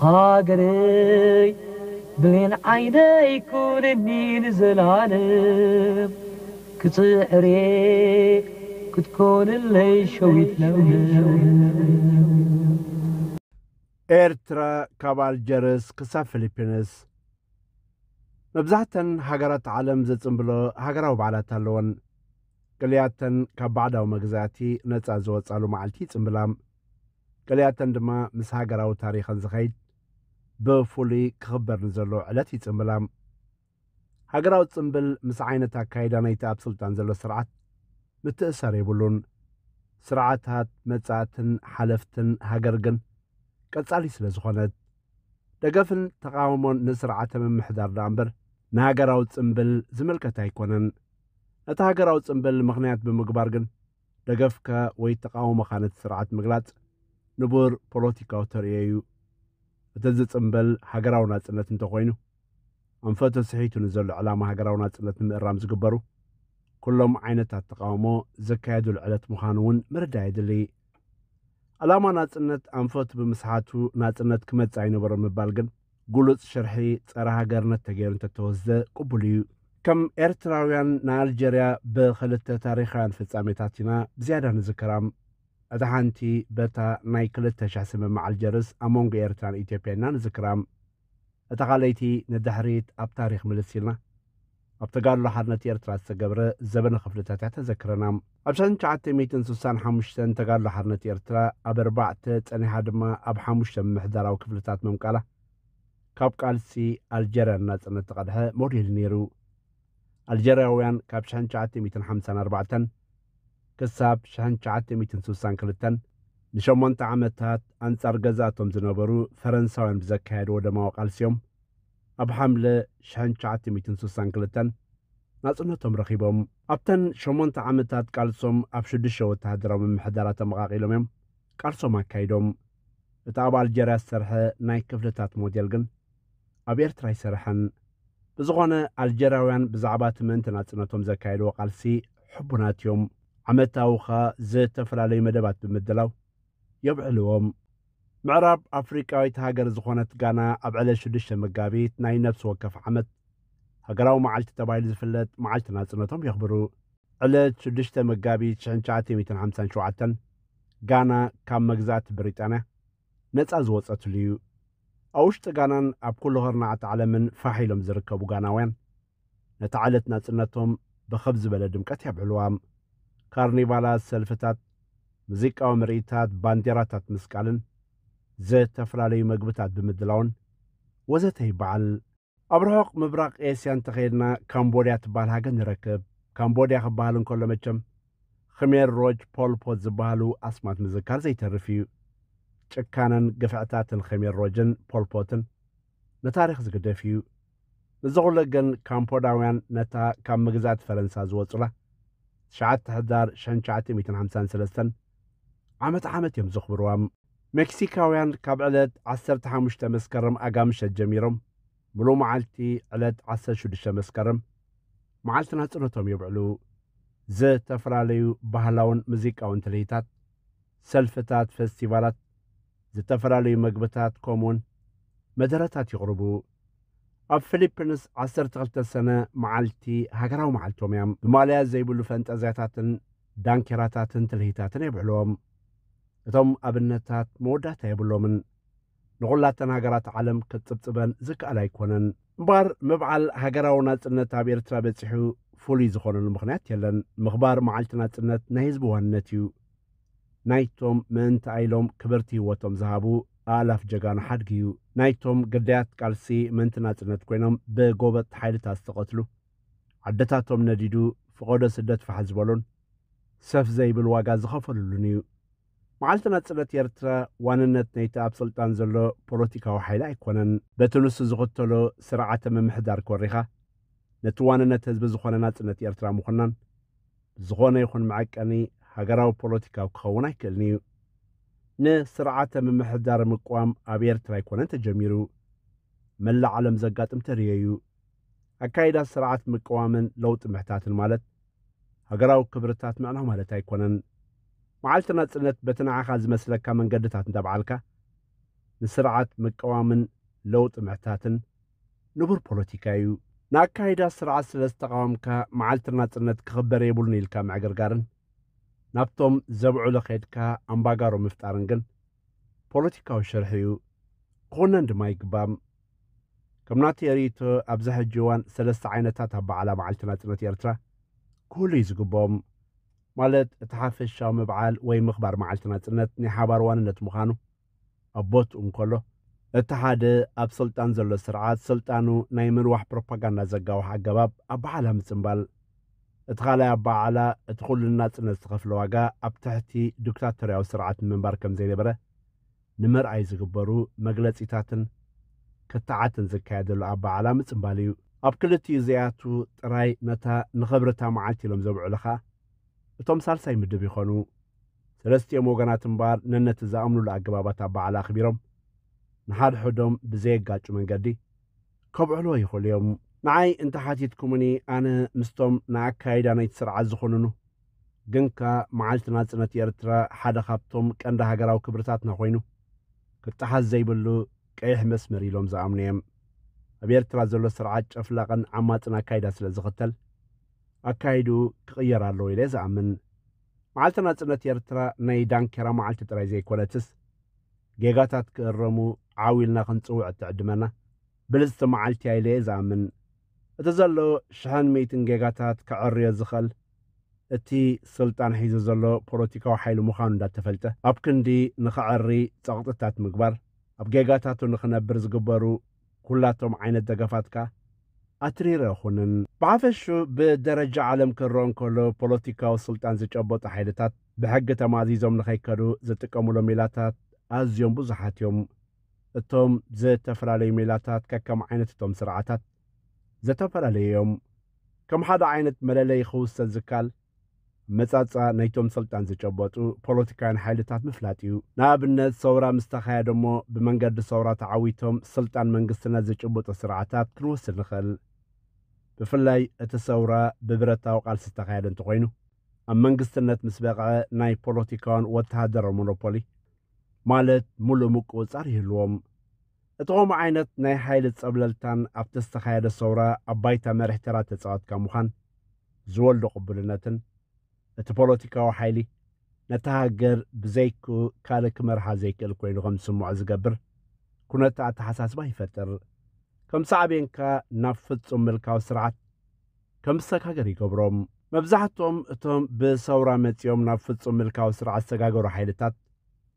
ሃገረይ ብሌን ዓይነይ ኩንኒ ንዘላለም ክጽዕሬ ክትኮንለይ ሸዊት ለምለም። ኤርትራ ካብ ኣልጀርስ ክሳብ ፊሊፒንስ መብዛሕተን ሃገራት ዓለም ዘጽንብሎ ሃገራዊ በዓላት ኣለወን። ገሊኣተን ካብ ባዕዳዊ መግዛእቲ ነጻ ዝወጻሉ መዓልቲ ይጽንብላ። ገሊኣተን ድማ ምስ ሃገራዊ ታሪኸን ዝኸይድ ብፍሉይ ክኽበር ንዘሎ ዕለት ይጽንብላ። ሃገራዊ ጽንብል ምስ ዓይነት ኣካይዳ ናይቲ ኣብ ስልጣን ዘሎ ስርዓት ምትእሳር የብሉን። ስርዓታት መጻእትን ሓለፍትን ሃገር ግን ቀጻሊ ስለ ዝኾነት ደገፍን ተቓውሞን ንስርዓተ ምምሕዳር ደኣ እምበር ንሃገራዊ ጽንብል ዝምልከት ኣይኮነን። ነቲ ሃገራዊ ጽንብል ምኽንያት ብምግባር ግን ደገፍካ ወይ ተቓውሞኻ ነቲ ስርዓት ምግላጽ ንቡር ፖለቲካዊ ተርእዮ እዩ። እቲ ዝጽንበል ሃገራዊ ናጽነት እንተኾይኑ ኣንፈቱ ስሒቱ ንዘሎ ዕላማ ሃገራዊ ናጽነት ንምእራም ዝግበሩ ኩሎም ዓይነታት ተቓውሞ ዘካየዱሉ ዕለት ምዃኑ እውን ምርዳእ የድሊ። ዕላማ ናጽነት ኣንፈቱ ብምስሓቱ ናጽነት ክመጽእ ኣይነበሮ ምባል ግን ግሉጽ ሽርሒ ጸረ ሃገርነት ተገይሩ እንተተወስደ ቅቡል እዩ። ከም ኤርትራውያን ንኣልጀርያ ብኽልተ ታሪኻውያን ፍጻሜታት ኢና ብዝያዳ ንዝክራም። እታ ሓንቲ በታ ናይ ክልተ ሽሕ ስምምዕ ኣልጀርስ ኣብ መንጎ ኤርትራን ኢትዮጵያን ኢና ንዝክራም። እታ ካልኣይቲ ንድሕሪት ኣብ ታሪኽ ምልስ ኢልና ኣብ ተጋድሎ ሓርነት ኤርትራ ዝተገብረ ዘበነ ክፍልታት እያ ተዘክረና። ኣብ ሽሕን ትሽዓተ ሚእትን ስሳን ሓሙሽተን ተጋድሎ ሓርነት ኤርትራ ኣብ ኣርባዕተ ጸኒሓ ድማ ኣብ ሓሙሽተ ምምሕዳራዊ ክፍልታት ምምቃላ ካብ ቃልሲ ኣልጀርያ ንናጽነት ተቐድሐ ሞዴል ነይሩ። ኣልጀርያውያን ካብ ሽሕን ትሽዓተ ሚእትን ሓምሳን ኣርባዕተን ክሳብ ሽሕን ትሽዓተ ሚእትን ስሳን ክልተን ንሸሞንተ ዓመታት ኣንጻር ገዛእቶም ዝነበሩ ፈረንሳውያን ብዘካየድዎ ደማዊ ቃልሲ እዮም ኣብ ሓምለ ሽሕን ትሽዓተ ሚእትን ስሳን ክልተን ናጽነቶም ረኺቦም። ኣብተን ሸሞንተ ዓመታት ቃልሶም ኣብ ሽዱሽተ ወተሃደራዊ ምምሕዳራት ተመቓቒሎም እዮም ቃልሶም ኣካይዶም። እቲ ኣብ ኣልጀርያ ዝሰርሐ ናይ ክፍልታት ሞዴል ግን ኣብ ኤርትራ ኣይሰርሐን። ብዝኾነ ኣልጀርያውያን ብዛዕባ እቲ ምእንቲ ናጽነቶም ዘካየድዎ ቃልሲ ሕቡናት እዮም። ዓመታዊ ኸኣ ዝተፈላለዩ መደባት ብምድላው የብዕልዎም። ምዕራብ ኣፍሪቃዊት ሃገር ዝኾነት ጋና ኣብ ዕለት ሽዱሽተ መጋቢት ናይ ነፍሲ ወከፍ ዓመት ሃገራዊ መዓልቲ ተባሂሉ ዝፍለጥ መዓልቲ ናጽነቶም የኽብሩ። ዕለት ሽዱሽተ መጋቢት ሽሕን ትሽዓተ ሚእትን ሓምሳን ሸውዓተን ጋና ካብ መግዛእቲ ብሪጣንያ ነጻ ዝወጸትሉ እዩ። ኣብ ውሽጢ ጋናን ኣብ ኩሉ ኸርናዕቲ ዓለምን ፋሕ ኢሎም ዝርከቡ ጋናውያን ነታ ዕለት ናጽነቶም ብኸብ ዝበለ ድምቀት የብዕልዋ። ካርኒቫላት፣ ሰልፍታት፣ ሙዚቃዊ ምርኢታት፣ ባንዴራታት ምስቃልን ዝተፈላለዩ መግብታት ብምድላውን ወዘተ ይበዓል። ኣብ ርሑቕ ምብራቕ ኤስያ እንተኸይድና ካምቦድያ ትበሃል ሃገር ንረክብ። ካምቦድያ ክበሃል እንከሎ መቸም ኽሜር ሮጅ ፖልፖት ዝበሃሉ ኣስማት ምዝካር ዘይተርፍ እዩ። ጭካነን ግፍዕታትን ኽሜር ሮጅን ፖልፖትን ንታሪኽ ዝግደፍ እዩ። እዚ ኹሉ ግን ካምፖዳውያን ነታ ካብ መግዛእቲ ፈረንሳ ዝወጹላ ትሽዓተ ሕዳር ሽሕን ትሽዓተ ሚእትን ሓምሳን ሰለስተን ዓመት ዓመት እዮም ዘኽብርዋ። ሜክሲካውያን ካብ ዕለት ዓሰርተ ሓሙሽተ መስከረም ኣጋምሸት ጀሚሮም ምሉእ መዓልቲ ዕለት ዓሰርተ ሽዱሽተ መስከረም መዓልቲ ናጽነቶም የብዕሉ። ዝተፈላለዩ ባህላውን ሙዚቃውን ትልሂታት፣ ሰልፍታት፣ ፈስቲቫላት፣ ዝተፈላለዩ መግብታት ከምኡውን መደረታት ይቕርቡ። ኣብ ፊሊፒንስ ዓሰርተ ክልተ ሰነ መዓልቲ ሃገራዊ መዓልቶም እያ። ብማልያ ዘይብሉ ፈንጠዝያታትን ዳንኬራታትን ትልሂታትን የብዕልዎም። እቶም ኣብነታት መወዳእታ የብሎምን። ንኹላተን ሃገራት ዓለም ክጽብጽበን ዝከኣል ኣይኮነን። እምበኣር ምብዓል ሃገራዊ ናጽነት ኣብ ኤርትራ በጺሑ ፍሉይ ዝኾነሉ ምኽንያት የለን። ምኽባር መዓልቲ ናጽነት ናይ ህዝቢ ዋንነት እዩ። ናይቶም ምእንቲ ኣይሎም ክብርቲ ህይወቶም ዝሃቡ ኣእላፍ ጀጋኑ ሓድጊ እዩ። ናይቶም ግዳያት ቃልሲ ምእንቲ ናጽነት ኮይኖም ብጎበጥ ሓይልታት ዝተቐትሉ፣ ዓድታቶም ነዲዱ ፍቐዶ ስደት ፋሕ ዝበሉን ሰፍ ዘይብል ዋጋ ዝኸፈሉሉን እዩ። መዓልቲ ናጽነት ኤርትራ ዋንነት ናይቲ ኣብ ስልጣን ዘሎ ፖለቲካዊ ሓይሊ ኣይኮነን። በቲ ንሱ ዝኽተሎ ስርዓተ ምምሕዳር ኮሪኻ ነቲ ዋንነት ህዝቢ ዝኾነ ናጽነት ኤርትራ ምኹናን ብዝኾነ ይኹን መዐቀኒ ሃገራዊ ፖለቲካዊ ክኸውን ኣይክእልን እዩ። ንስርዓተ ምምሕዳር ምቅዋም ኣብ ኤርትራ ኣይኮነን ተጀሚሩ። መላእ ዓለም ዘጋጥም ተርእዮ እዩ። ኣካይዳ ስርዓት ምቅዋምን ለውጢ ምሕታትን ማለት ሃገራዊ ክብርታት ምዕናው ማለት ኣይኮነን። መዓልቲ ናጽነት በቲ ንዓኻ ዝመስለካ መንገድታት እንዳብዓልካ ንስርዓት ምቅዋምን ለውጢ ምሕታትን ንቡር ፖለቲካ እዩ። ንኣካይዳ ስርዓት ስለ ዝተቃወምካ መዓልቲ ናጽነት ክኽበር የብሉን ኢልካ ምዕግርጋርን ናብቶም ዘብዕሉ ኸድካ ኣምባጋሮ ምፍጣርን ግን ፖለቲካዊ ሽርሒ እዩ፣ ክኹነን ድማ ይግባም። ከም ናተይ ርእይቶ ኣብዚ ሕጂ እዋን ሰለስተ ዓይነታት ኣበዓዕላ መዓልቲ ናጽነት ኤርትራ ክህሉ እዩ ዝግብኦም። ማለት እቲ ሓፈሻዊ ምብዓል ወይ ምኽባር መዓልቲ ናጽነት ናይ ሓባር ዋንነት ምዃኑ ኣብ ቦትኡ እንከሎ፣ እቲ ሓደ ኣብ ስልጣን ዘሎ ስርዓት ስልጣኑ ናይ ምንዋሕ ፕሮፓጋንዳ ዘጋውሕ ኣገባብ ኣበዓዕላ ምጽንባል፣ እቲ ካልኣይ ኣበዓዕላ እቲ ኩሉ ናጽነት ዝኸፍሎ ዋጋ ኣብ ትሕቲ ዲክታቶርያዊ ስርዓት ንምንባር ከም ዘይነበረ ንምርኣይ ዝግበሩ መግለጺታትን ክትዓትን ዝካየደሉ ኣበዓዕላ ምጽንባል እዩ። ኣብ ክልቲኡ እዚኣቱ ጥራይ ነታ ንኽብሪ እታ መዓልቲ ኢሎም ዘብዕሉ ኸኣ እቶም ሳልሳይ ምድብ ይኾኑ። ሰለስቲኦም ወገናት እምበኣር ነነቲ ዝኣምኑሉ ኣገባባት ኣበዓዕላ ኣኽቢሮም ንሓድሕዶም ብዘየጋጩ መንገዲ ከብዕልዎ ይኽእሉ እዮም። ንዓይ እንተ ሓቲትኩምኒ ኣነ ምስቶም ንኣካይዳ ናይቲ ስርዓት ዝኹንኑ ግን ከኣ መዓልቲ ናጽነት ኤርትራ ሓደ ካብቶም ቀንዲ ሃገራዊ ክብርታትና ኮይኑ ክጠሓስ ዘይብሉ ቀይሕ መስመር ኢሎም ዝኣምኑ እዮም። ኣብ ኤርትራ ዘሎ ስርዓት ጨፍላቕን ዓማጽን ኣካይዳ ስለ ዝኽተል ኣካይድኡ ክቕየር ኣለዎ ኢለ ዝኣምን። መዓልቲ ናጽነት ኤርትራ ናይ ዳንኬራ መዓልቲ ጥራይ ዘይኮነትስ ጌጋታት ክእረሙ ዓው ኢልና ክንጽውዕ እትዕድመና ብልጽቲ መዓልቲ እያ ኢለ እየ ዝኣምን። እቲ ዘሎ ሽሕን ሚእትን ጌጋታት ከዐርዮ ዝኽእል እቲ ስልጣን ሒዙ ዘሎ ፖለቲካዊ ሓይሊ ምዃኑ እንዳተፈልጠ ኣብ ክንዲ ንኸዐሪ ጸቕጥታት ምግባር ኣብ ጌጋታቱ ንኽነብር ዝግበሩ ኩላቶም ዓይነት ደገፋት ከኣ ኣትሪረ ኣይኹንን። ብሓፈሹ ብደረጃ ዓለም ክረኦ እንከሎ ፖለቲካዊ ስልጣን ዝጨበጡ ሓይልታት ብሕጊ ተማዚዞም ንኸይከዱ ዝጥቀሙሎም ሜላታት ኣዝዮም ብዙሓት እዮም። እቶም ዝተፈላለዩ ሜላታት ከከም ዓይነት እቶም ስርዓታት ዝተፈላለዩ እዮም። ከም ሓደ ዓይነት መለለዪ ክውሰድ ዝከኣል ኣመጻጽኣ ናይቶም ስልጣን ዝጨበጡ ፖለቲካውያን ሓይልታት ምፍላጥ እዩ። ንኣብነት ሰውራ ምስ ተኻየደ እሞ ብመንገዲ ሰውራ ተዓዊቶም ስልጣን መንግስትነት ዝጭብጡ ስርዓታት ክንወስድ ንኽእል። ብፍላይ እቲ ሰውራ ብብረታዊ ቃልሲ ዝተኻየደ እንተኾይኑ ኣብ መንግስትነት ምስ በቕዐ ናይ ፖለቲካውን ወተሃደራዊ ሞኖፖሊ ማለት ሙሉእ ምቁጽጻር ይህልዎም። እቲ ከምኡ ዓይነት ናይ ሓይሊ ጸብለልታን ኣብቲ ዝተኻየደ ሰውራ ኣብ ባይታ መሪሕ ተራ ተጻወትካ ምዃን ዝወልዶ ቅቡልነትን እቲ ፖለቲካዊ ሓይሊ ነታ ሃገር ብዘይክኡ ካልእ ክመርሓ ዘይክእል ኮይኑ ከም ዝስምዖ ዝገብር ኩነተ ኣተሓሳስባ ይፈጥር። ከም ሳዕቤንካ ናብ ፍጹም ምልካዊ ስርዓት ከም ዝሰጋገር ይገብሮም። መብዛሕትኦም እቶም ብሰውራ መጺኦም ናብ ፍጹም ምልካዊ ስርዓት ዝሰጋገሩ ሓይልታት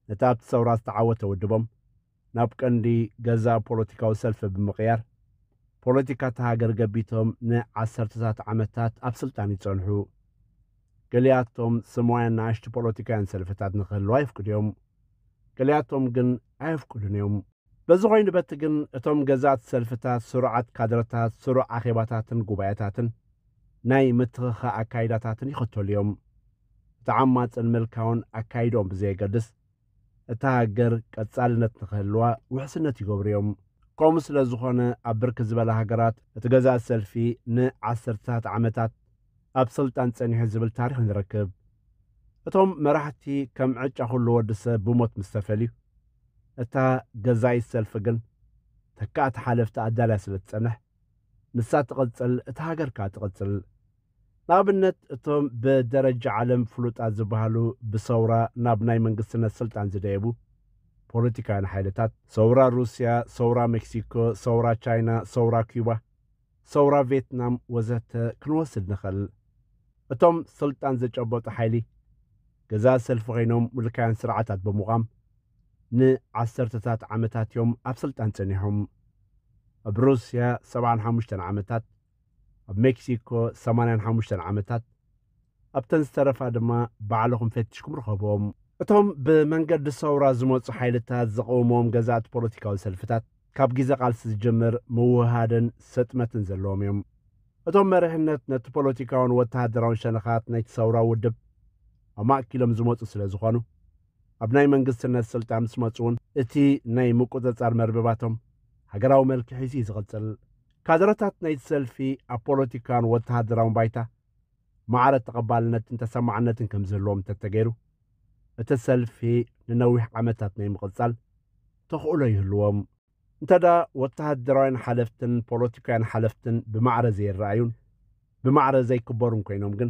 ነቲ ኣብቲ ሰውራ ዝተዓወተ ውድቦም ናብ ቀንዲ ገዛእ ፖለቲካዊ ሰልፊ ብምቕያር ፖለቲካ እታ ሃገር ገቢቶም ንዓሰርተታት ዓመታት ኣብ ስልጣን ይጸንሑ። ገሊኣቶም ስማውያን ንኣሽቱ ፖለቲካውያን ሰልፍታት ንክህልዋ የፍቅዱ እዮም። ገሊኣቶም ግን ኣየፍቅዱን እዮም። በዚ ኮይኑ በቲ ግን እቶም ገዛእቲ ሰልፍታት ስሩዓት ካድረታት፣ ስሩዕ ኣኼባታትን ጉባኤታትን ናይ ምትኽኻእ ኣካይዳታትን ይኸተሉ እዮም። እቲ ዓማጽን ምልካውን ኣካይድኦም ብዘየገድስ እታ ሃገር ቀጻልነት ንኽህልዋ ውሕስነት ይገብሩ እዮም። ከምኡ ስለ ዝኾነ ኣብ ብርክት ዝበላ ሃገራት እቲ ገዛእቲ ሰልፊ ንዓሰርተታት ዓመታት ኣብ ስልጣን ጸኒሑ ዝብል ታሪኽ ንረክብ። እቶም መራሕቲ ከም ዕጫ ኩሉ ወዲ ሰብ ብሞት ምስ ተፈልዩ እታ ገዛኢት ሰልፊ ግን ተካእቲ ሓለፍቲ ኣዳልያ ስለ ትጸንሕ ንሳ ትቕጽል፣ እታ ሃገር ከኣ ትቕጽል። ንኣብነት እቶም ብደረጃ ዓለም ፍሉጣት ዝበሃሉ ብሰውራ ናብ ናይ መንግስትነት ስልጣን ዝደየቡ ፖለቲካውያን ሓይልታት ሰውራ ሩስያ፣ ሰውራ ሜክሲኮ፣ ሰውራ ቻይና፣ ሰውራ ኩባ፣ ሰውራ ቬትናም ወዘተ ክንወስድ ንኽእል። እቶም ስልጣን ዝጨበጡ ሓይሊ ገዛእቲ ሰልፊ ኮይኖም ምልካውያን ስርዓታት ብምቋም ንዓሰርተታት ዓመታት እዮም ኣብ ስልጣን ጸኒሖም። ኣብ ሩስያ ሰብዓን ሓሙሽተን ዓመታት፣ ኣብ ሜክሲኮ ሰማንያን ሓሙሽተን ዓመታት፣ ኣብተን ዝተረፋ ድማ ባዕልኹም ፈቲሽኩም ርኸብዎም። እቶም ብመንገዲ ሰውራ ዝመጹ ሓይልታት ዝቐውምዎም ገዛእቲ ፖለቲካዊ ሰልፍታት ካብ ግዜ ቃልሲ ዝጅምር ምውህሃድን ሰጥመትን ዘለዎም እዮም። እቶም መሪሕነት ነቲ ፖለቲካውን ወተሃደራውን ሸነኻት ናይቲ ሰውራ ውድብ ኣማእኪሎም ዝመጹ ስለ ዝኾኑ ኣብ ናይ መንግስትነት ስልጣን ምስ መጹ እውን እቲ ናይ ምቁጽጻር መርበባቶም ሃገራዊ መልክዕ ሒዙ እዩ ዝቕጽል። ካድረታት ናይቲ ሰልፊ ኣብ ፖለቲካን ወተሃደራውን ባይታ ማዕረ ተቐባልነትን ተሰማዕነትን ከም ዝህልዎም እንተተገይሩ እቲ ሰልፊ ንነዊሕ ዓመታት ናይ ምቕጻል ተኽእሎ ይህልዎም። እንተ ደኣ ወተሃደራውያን ሓለፍትን ፖለቲካውያን ሓለፍትን ብማዕረ ዘይረኣዩን ብማዕረ ዘይክበሩን ኮይኖም ግን፣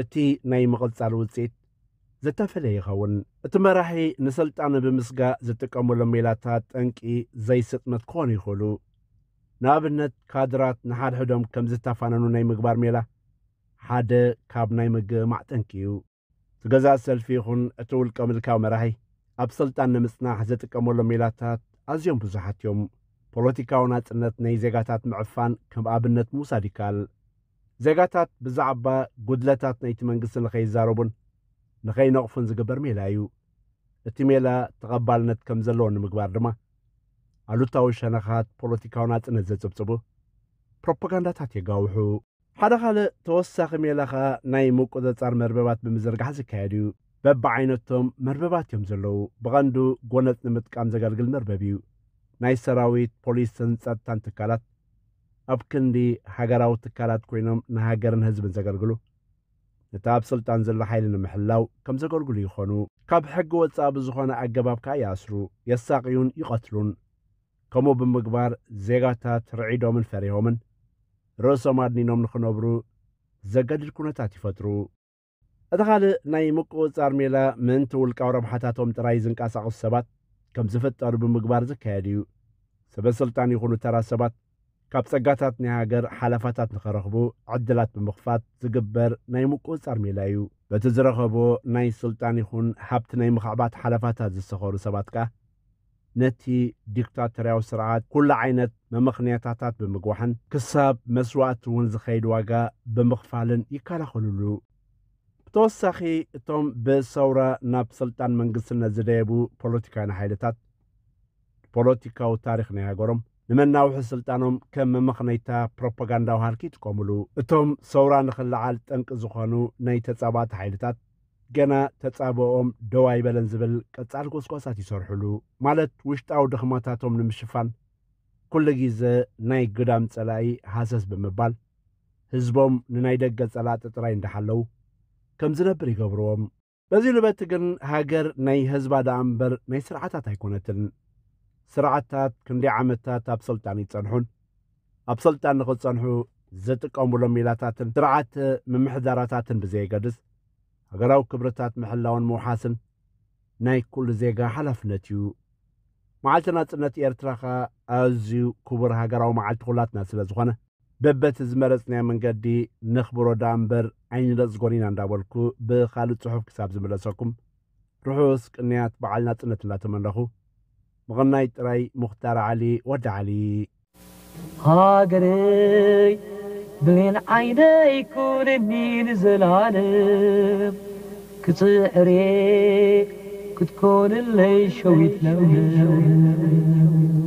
እቲ ናይ ምቕጻል ውጽኢት ዝተፈለየ ይኸውን። እቲ መራሒ ንስልጣን ብምስጋእ ዝጥቀመሎም ሜላታት ጠንቂ ዘይስጥመት ክኾኑ ይኽእሉ። ንኣብነት፣ ካድራት ንሓድሕዶም ከም ዝተፋነኑ ናይ ምግባር ሜላ ሓደ ካብ ናይ ምግማዕ ጠንቂ እዩ። እቲ ገዛእ ሰልፊ ይኹን እቲ ውልቀ ምልካዊ መራሒ ኣብ ስልጣን ንምጽናሕ ዝጥቀመሎም ሜላታት ኣዝዮም ብዙሓት እዮም። ፖለቲካዊ ናጽነት ናይ ዜጋታት ምዕፋን ከም ኣብነት ምውሳድ ይከኣል። ዜጋታት ብዛዕባ ጉድለታት ናይቲ መንግስቲ ንኸይዛረቡን ንኸይነቕፉን ዝግበር ሜላ እዩ። እቲ ሜላ ተቐባልነት ከም ዘለዎ ንምግባር ድማ ኣሉታዊ ሸነኻት ፖለቲካዊ ናጽነት ዘጽብጽቡ ፕሮፓጋንዳታት የጋውሑ። ሓደ ካልእ ተወሳኺ ሜላ ኸኣ ናይ ምቁጽጻር መርበባት ብምዝርጋሕ ዝካየድ እዩ። በብዓይነቶም መርበባት እዮም ዘለዉ። ብቐንዱ ጎነጽ ንምጥቃም ዘገልግል መርበብ እዩ። ናይ ሰራዊት፣ ፖሊስን ጸጥታን ትካላት ኣብ ክንዲ ሃገራዊ ትካላት ኮይኖም ንሃገርን ህዝብን ዘገልግሉ፣ ነቲ ኣብ ስልጣን ዘሎ ሓይሊ ንምሕላው ከም ዘገልግሉ ይኾኑ። ካብ ሕጊ ወጻኢ ብዝኾነ ኣገባብ ከኣ ይኣስሩ፣ የሳቕዩን ይቐትሉን። ከምኡ ብምግባር ዜጋታት ርዒዶምን ፈሪሆምን ርእሶም ኣድኒኖም ንኽነብሩ ዘገድድ ኩነታት ይፈጥሩ። እቲ ካልእ ናይ ምቁጽጻር ሜላ ምእንቲ ውልቃዊ ረብሓታቶም ጥራይ ዝንቀሳቐሱ ሰባት ከም ዝፍጠሩ ብምግባር ዝካየድ እዩ። ሰበ ስልጣን ይኹኑ ተራ ሰባት ካብ ጸጋታት ናይ ሃገር ሓለፋታት ንኸረኽቡ ዕድላት ብምኽፋት ዝግበር ናይ ምቁጽጻር ሜላ እዩ። በቲ ዝረኸቦ ናይ ስልጣን ይኹን ሃብቲ ናይ ምኽዕባት ሓለፋታት ዝሰኸሩ ሰባት ከኣ ነቲ ዲክታቶርያዊ ስርዓት ኩሉ ዓይነት መመኽንያታታት ብምግዋሕን ክሳብ መስዋእቲ እውን ዝኸይድ ዋጋ ብምኽፋልን ይከላኸሉሉ። ብተወሳኺ እቶም ብሰውራ ናብ ስልጣን መንግስትነት ዝደየቡ ፖለቲካውያን ሓይልታት ፖለቲካዊ ታሪኽ ናይ ሃገሮም ንመናውሒ ስልጣኖም ከም መመኽነይታ ፕሮፓጋንዳዊ ሃልኪ ይጥቀሙሉ። እቶም ሰውራ ንኽለዓል ጠንቂ ዝኾኑ ናይ ተጻባእቲ ሓይልታት ገና ተጻብኦም ደው ኣይበለን ዝብል ቀጻሊ ጎስጓሳት ይሰርሑሉ። ማለት ውሽጣዊ ድኽመታቶም ንምሽፋን ኩሉ ግዜ ናይ ግዳም ጸላኢ ሃሰስ ብምባል ህዝቦም ንናይ ደገ ጸላእቲ ጥራይ እንዳሓለዉ ከም ዝነብር ይገብርዎም። በዚ ልበቲ ግን ሃገር ናይ ህዝባ ደኣ እምበር ናይ ስርዓታት ኣይኮነትን። ስርዓታት ክንደይ ዓመታት ኣብ ስልጣን ይጸንሑን ኣብ ስልጣን ንኽጸንሑ ዝጥቀሙሎም ሜላታትን ስርዓት ምምሕዳራታትን ብዘየገድስ ሃገራዊ ክብርታት ምሕላውን ምውሓስን ናይ ኩሉ ዜጋ ሓላፍነት እዩ። መዓልቲ ናጽነት ኤርትራ ኸኣ ኣዝዩ ክቡር ሃገራዊ መዓልቲ ኩላትና ስለ ዝኾነ በበቲ ዝመረጽናዮ መንገዲ ነኽብሮ ደኣ እምበር ኣይንነጽጎን ኢና እንዳበልኩ ብኻልእ ጽሑፍ ክሳብ ዝምለሰኩም ርሑስ ቅንያት በዓል ናጽነት እንዳተመነኹ ምቕናይ ጥራይ። ሙኽታር ዓሊ ወዲ ዓሊ። ሃገረይ ብሌን ዓይነይ ኩንኒ ንዘላለም ክጽዕሬ ክትኮንለይ ሸዊት ለምለም